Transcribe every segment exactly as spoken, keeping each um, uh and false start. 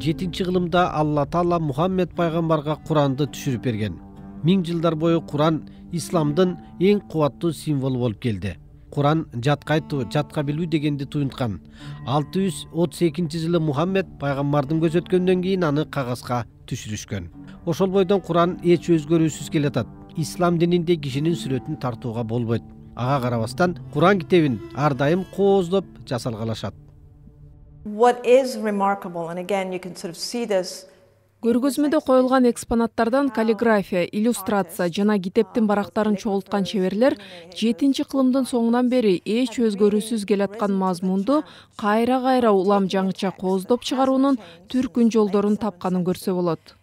жетинчи кылымда Алла Таала Мухаммед пайгамбарга Куранды түшүрүп берген. Миң жылдар бою Куран исламдын эң кубаттуу символу болуп келди. Куран жатка айтуу, жатка билүү дегенди туюнткан. алты жүз отуз экинчи жылы Мухаммед пайгамбардын көрсөткөндөн кийин аны кагазга түшүрүшкөн. Ошол бойдон Куран эч өзгөрүүсүз келатат. Ислам дининде кишинин сүрөтүн тартууга болбойт. Ага карабастан Куран китебин ар дайым кооздоп жасалгалашат. What is remarkable, and again you can sort of see this. Көргөзмөдө коюлган экспонаттардан каллиграфия, иллюстрация жана китептин барактарын чогулткан чеберлер жетинчи кылымдын соңунан бери эч өзгөрүүсүз келаткан мазмунду кайра-кайра улам жаңыча кооздоп чыгаруунун түркүн жолдорун тапканын көрсө болот.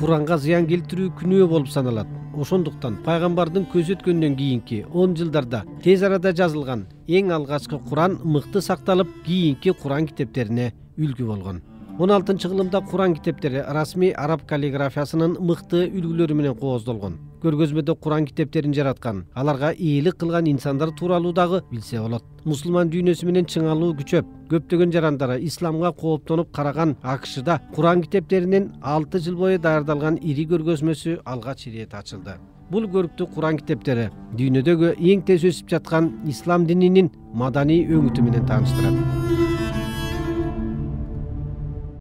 Куранга зыян келтирүү күнөө болуп саналат. Ошондуктан пайгамбардын көрсөткөндөн кийинки он жылдарда тез арада жазылган эң алгачкы Куран мыкты сакталып, кийинки Куран китептерине үлгү болгон. он алтынчы кылымда Куран китептери расмий араб каллиграфиясынын мыкты үлгүлөрү менен кооздолгон. Көргөзмөдө Куран китептерин жараткан, аларга ээлик кылган инсандар тууралуу дагы билсе болот. Мусулман дүйнөсү менен чыңалуу күчөп, көптөгөн жарандары исламга кооптонуп караган АКШда Куран китептеринин алты жыл бою даярдалган ири көргөзмөсү алгач ирет ачылды. Бул көрүктүү Куран китептери дүйнөдөгү эң тез өсүп жаткан ислам дининин маданий өңүтү менен тааныштырат.